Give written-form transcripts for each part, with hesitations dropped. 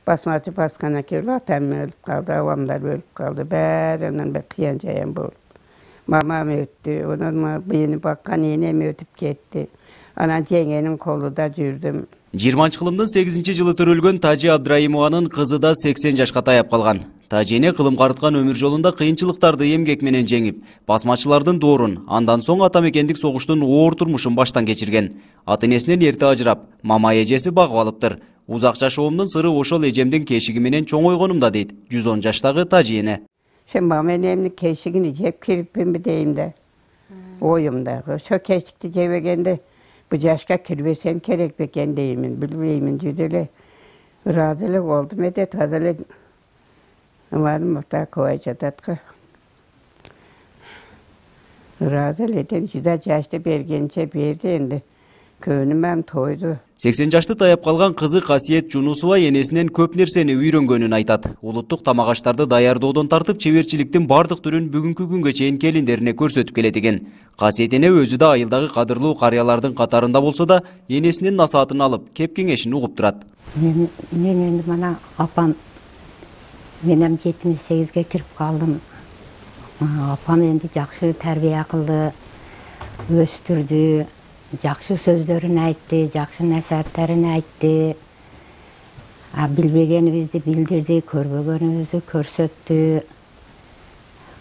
Basmacı baskana kelip atam ölüp kaldı, avamlar ölüp kaldı. Bärinden bir kıyan jayan bolup. Mamam öttü, onun beni bakkan enem ötüp ketти. Ana jengenin kolunda жүрдüm. 20-кылымдын 8-жылы төрөлгөн Тажи Абдрайымованын кызы да 80 жашка таяп калган. Тажи эне кылым карыткан өмүр жолунда кыйынчылыктарды эмгек менен жеңип, басмачылардын доорун, андан соң атамекендик согуштун оор турмушун баштан кечирген. Ата энесинен эрте ажырап, мама эжеси багып алыптыр. Узак жашоомдун сыры ошол эжемдин кешиги менен чоңойгонумда дейт 110 жаштагы Тажи эне. Sen mama enemnin keşigini jep kiripim bir deyim de. Oyumda. Şu keşikti jebegende bu yaşka kirvesem kerek beken deyimin, bilmeyimin cüdele. Razılık oldum edet hazırlık. Varım da kovacadatka. Razılık edem cüda yaşta bergençe berdi endi. Könümem toydu. 80 жашты таяп калган кызы Касиет Жунусова энесинен көп нерсени үйрөнгөнүн айтат. Улуттук тамак аштарды даярдоодон тартып, чеберчиликтин бардык түрүн бүгүнкү күнгө чейин келиндерине көрсөтүп келет экен. Касиет эне өзү да айылдагы кадырлуу карыялардын катарында болсо да, энесинин насаатын алып, кеп кеңешин угуп турат. Мен энди мана апам менен 78ге кирип калдым. Апам энди жакшы тарбия кылды, өстүрдү. Жакшы сөздөрүн айтты, жакшы насааттарын айтты. Билбегенибизди билдирди, көрбөгөнүбүздү көрсөттү.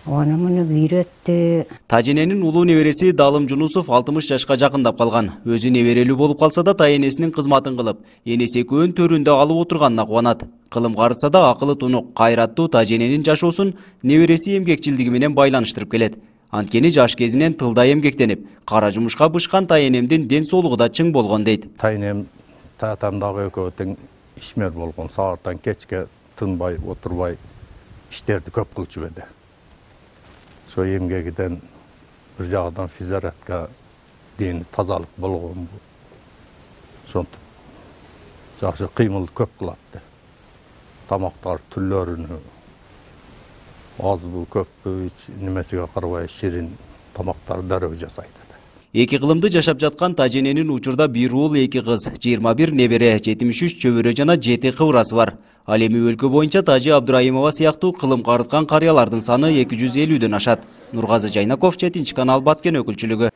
Оны муну үйрөттү. Тажи эненин улуу небереси Далым Жунусов 60 жашка жакындап калган. Өзү неберелүү болуп калса да, тай энесинин кызматын кылып, энеси экөөнүн төрүндө алып отурганына кубанат. Кылым карытса да акылы тунук, кайраттуу Тажи эненин жашоосун небереси эмгекчилдиги менен байланыштырып келет. Анткени жаш кезинен тылда эмгектенип, кара жумушка бышкан тай энемдин ден соолугу да чың болгон дейт. Тай энем татамдагы экөө тең ишмер болгон, сааттан кечке тынбай, отурбай иштерди көп кылчу эди. Ошо эмгегиден бир жагынан физиотерапка дени тазалык болгон. Ошонтип жакшы кыймыл көп кылат. Тамактар түрлөрүнү азбы көппү немесиге карабай ширин тамактар дароо жасайт. Эки кылымды жашап жаткан Тажи эненин учурда бир уул, эки кыз, 21 небере, 73 чөбөрө жана 7 кыбырасы бар. Ал эми өлкө боюнча Тажи Абдрайымова сыяктуу кылым карыткан карыялардын саны 250дөн ашат. Нургазы Жайнаков, 7 канал Баткен өкүлчүлүгү.